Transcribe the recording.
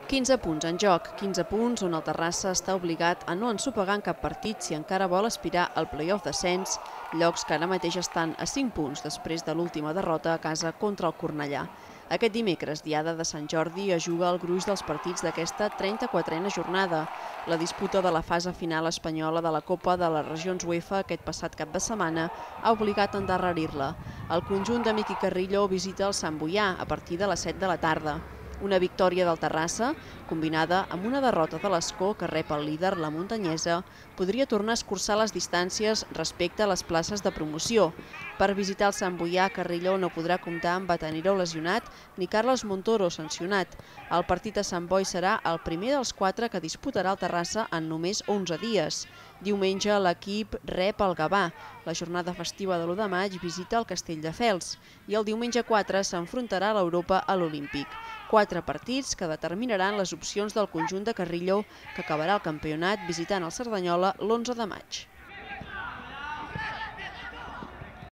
15 punts en joc, 15 punts on el Terrassa està obligat a no ensopegar en cap partit si encara vol aspirar al play-off d'ascens, llocs que ara mateix estan a 5 punts després de l'última derrota a casa contra el Cornellà. Aquest dimecres, diada de Sant Jordi, es juga el gruix dels partits d'aquesta 34a jornada. La disputa de la fase final espanyola de la Copa de les Regions UEFA aquest passat cap de setmana ha obligat a endarrerir-la. El conjunt de Miqui Carrillo visita el Sant Boià a partir de les 7 de la tarda. Una victòria del Terrassa, combinada amb una derrota de l'Escó que rep el líder, la Muntanyesa, podria tornar a escurçar les distàncies respecte a les places de promoció. Per visitar el Sant Boià, Carrillo no podrà comptar amb Batanero lesionat ni Carlos Montoro sancionat. El partit a Sant Boi serà el primer dels 4 que disputarà el Terrassa en només 11 dies. Diumenge l'equip rep el Gavà. La jornada festiva de l'1 de maig visita el Castelldefels i el diumenge 4 s'enfrontarà a l'Europa a l'Olímpic. 4 partits que determinaran les opcions del conjunt de Carrillo, que acabarà el campionat visitant el Cerdanyola l'11 de maig.